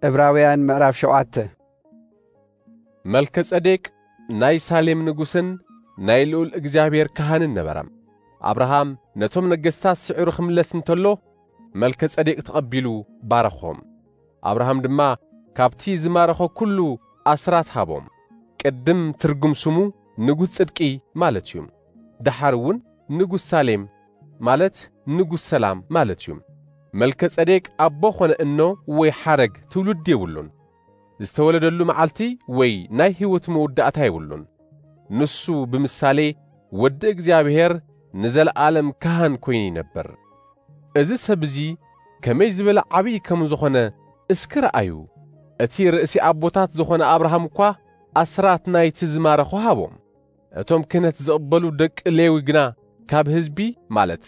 ዕብራውያን ምዕራፍ ሸውዓተ። መልከ ጸዴቅ ናይ ሳሌም ንጉስን ናይ ልዑል እግዚኣብሔር ካህንን ነበረ። ኣብርሃም ነቶም ነገስታት ስዒሩ ክምለስ እንተሎ፣ መልከ ጸዴቅ ተቐቢሉ ባረኾም። ኣብርሃም ድማ ካብቲ ዝማረኾ ኩሉ ኣስራት ሃቦም። ቅድም ትርጉም ስሙ ንጉስ ጽድቂ ማለት እዩ። ደሓር እውን ንጉስ ሳሌም ማለት ንጉስ ሰላም ማለት እዩ። መልከ ጸዴቅ ኣቦ ኾነ እኖ ወይ ሓረግ ትውልዲ የብሉን። ዝተወለደሉ መዓልቲ ወይ ናይ ህይወቱ መወዳእታ የብሉን። ንሱ ብምሳሌ ወዲ እግዚኣብሔር ንዘለዓለም ካህን ኮይኑ ይነብር። እዚ ሰብ እዚ ከመይ ዝበለ ዓብዪ ከም ዝኾነ እስኪ ረኣዩ። እቲ ርእሲ ኣቦታት ዝኾነ ኣብርሃም እኳ ኣስራት ናይቲ ዝማረኾ ሃቦም። እቶም ክህነት ዝቕበሉ ደቂ ሌዊ ግና ካብ ህዝቢ፣ ማለት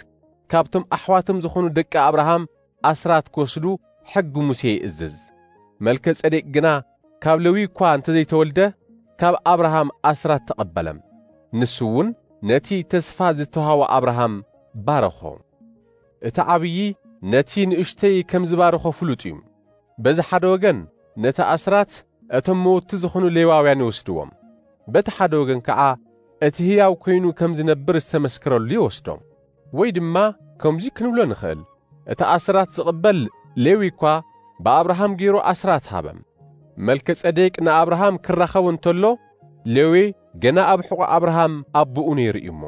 ካብቶም ኣሕዋቶም ዝኾኑ ደቂ ኣብርሃም ኣስራት ክወስዱ ሕጊ ሙሴ ይእዝዝ። መልከ ጸዴቅ ግና ካብ ሌዊ እኳ እንተዘይተወልደ፣ ካብ ኣብርሃም ኣስራት ተቐበለ። ንሱ እውን ነቲ ተስፋ ዝተዋህቦ ኣብርሃም ባረኾ። እቲ ዓብዪ ነቲ ንእሽተይ ከም ዝባረኾ ፍሉጥ እዩ። በዚ ሓደ ወገን ነቲ ኣስራት እቶም መወቲ ዝኾኑ ሌዋውያን ይወስድዎም። በቲ ሓደ ወገን ከዓ እቲ ህያው ኮይኑ ከም ዝነብር ዝተመስከረሉ ይወስዶ። ወይ ድማ ከምዚ ክንብሎ ንኽእል፣ እቲ ኣስራት ዝቕበል ሌዊ እኳ ብኣብርሃም ገይሩ ኣስራት ሃበ። መልከ ጸዴቅ ንኣብርሃም ክራኸቦ እንተሎ፣ ሌዊ ገና ኣብ ሕቖ ኣብርሃም ኣቦኡ ነይሩ እዩ እሞ።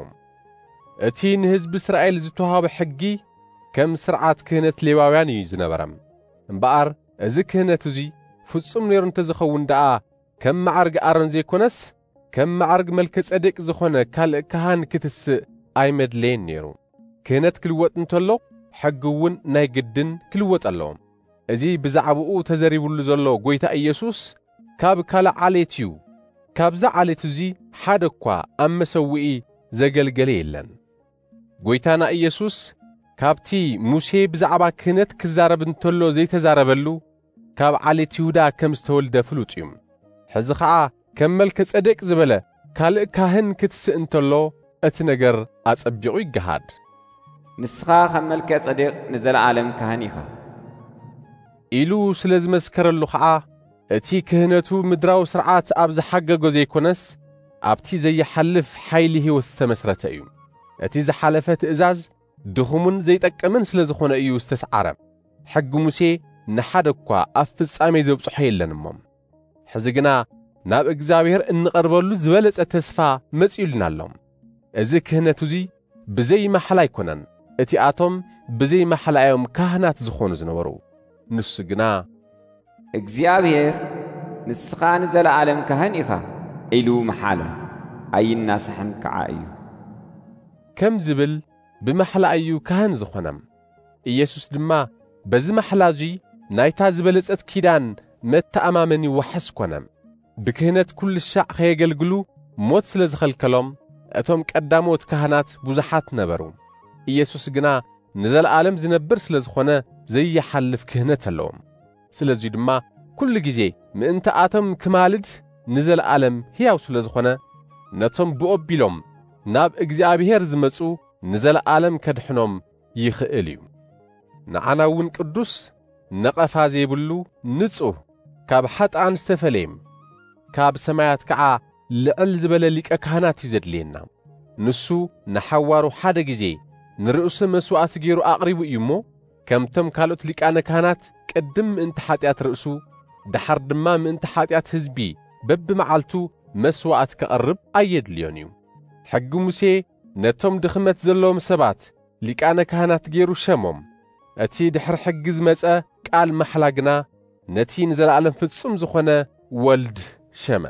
እቲ ንህዝቢ እስራኤል ዝተዋህበ ሕጊ ከም ስርዓት ክህነት ሌዋውያን እዩ ዝነበረ። እምበኣር እዚ ክህነት እዚ ፍጹም ነይሩ እንተዝኸውን ደኣ፣ ከም መዓርግ ኣሮን ዘይኮነስ፣ ከም መዓርግ መልከ ጸዴቅ ዝኾነ ካልእ ካህን ክትስእ ኣይመድለየን ነይሩ። ክህነት ክልወጥ እንተሎ፣ ሕጊ እውን ናይ ግድን ክልወጥ ኣለዎ። እዚ ብዛዕባኡ ተዘሪቡሉ ዘሎ ጐይታ ኢየሱስ ካብ ካልእ ዓሌት እዩ። ካብዛ ዓሌት እዚ ሓደ እኳ ኣብ መሰውኢ ዘገልገለ የለን። ጐይታና ኢየሱስ ካብቲ ሙሴ ብዛዕባ ክህነት ክዛረብ እንተሎ ዘይተዛረበሉ፣ ካብ ዓሌት ይሁዳ ከም ዝተወልደ ፍሉጥ እዩ። ሕዚ ኸዓ ከም መልከ ጸዴቅ ዝበለ ካልእ ካህን ክትስእ እንተሎ፣ እቲ ነገር ኣጸቢቑ ይገሃድ። "ንስኻ ከም መልከ ጸዴቅ ንዘለዓለም ካህን ኢኻ" ኢሉ ስለ ዝመስከረሉ ኸዓ፣ እቲ ክህነቱ ምድራዊ ስርዓት ኣብ ዝሓገጎ ዘይኮነስ፣ ኣብቲ ዘይሓልፍ ሓይሊ ህይወት ዝተመስረተ እዩ። እቲ ዝሓለፈ ትእዛዝ ድኹምን ዘይጠቅምን ስለ ዝኾነ እዩ ዝተስዓረ። ሕጊ ሙሴ ንሓደ እኳ ኣብ ፍጻሜ ዘብጽሖ የለን እሞ። ሕዚ ግና ናብ እግዚኣብሔር እንቐርበሉ ዝበለጸ ተስፋ መጺኡልና ኣሎ። እዚ ክህነት እዚ ብዘይ ማሕላ ኣይኮነን። እቲኣቶም ብዘይ ማሕላ እዮም ካህናት ዝኾኑ ዝነበሩ። ንሱ ግና፣ "እግዚኣብሔር፣ ንስኻ ንዘለዓለም ካህን ኢኻ" ኢሉ መሓለ፣ ኣይናሳሕን ከዓ እዩ። ከም ዝብል ብማሕላ እዩ ካህን ዝኾነ። ኢየሱስ ድማ በዚ ማሕላ እዙይ ናይታ ዝበለጸት ኪዳን መተኣማመኒ ዋሕስ ኮነ። ብክህነት ኩሉ ሻዕ ከየገልግሉ ሞት ስለ ዝኸልከሎም፣ እቶም ቀዳሞት ካህናት ብዙሓት ነበሩ። ኢየሱስ ግና ንዘለዓለም ዝነብር ስለ ዝኾነ ዘይሓልፍ ክህነት ኣለዎም። ስለዚ ድማ ኩሉ ግዜ ምእንቲ ኣቶም ክማልድ ንዘለዓለም ሕያው ስለ ዝኾነ፣ ነቶም ብኦ ኣቢሎም ናብ እግዚኣብሔር ዝመጹ ንዘለዓለም ከድሕኖም ይኽእል እዩ። ንዓና እውን ቅዱስ፣ ነቐፋ ዘይብሉ፣ ንጹህ፣ ካብ ሓጥኣን ዝተፈለየ፣ ካብ ሰማያት ከዓ ልዕል ዝበለ ሊቀ ካህናት እዩ ዘድልየና። ንሱ ንሓዋሩ ሓደ ግዜ ንርእሱ መስዋዕቲ ገይሩ ኣቕሪቡ እዩ እሞ፣ ከምቶም ካልኦት ሊቃነ ካህናት ቅድም ምእንቲ ሓጢኣት ርእሱ፣ ደሓር ድማ ምእንቲ ሓጢኣት ህዝቢ በብመዓልቱ መስዋዕቲ ከቕርብ ኣየድልዮን እዩ። ሕጊ ሙሴ ነቶም ድኽመት ዘለዎም ሰባት ሊቃነ ካህናት ገይሩ ሸሞም። እቲ ድሕሪ ሕጊ ዝመጸ ቃል ማሕላ ግና ነቲ ንዘለዓለም ፍጹም ዝኾነ ወልድ ሸመ።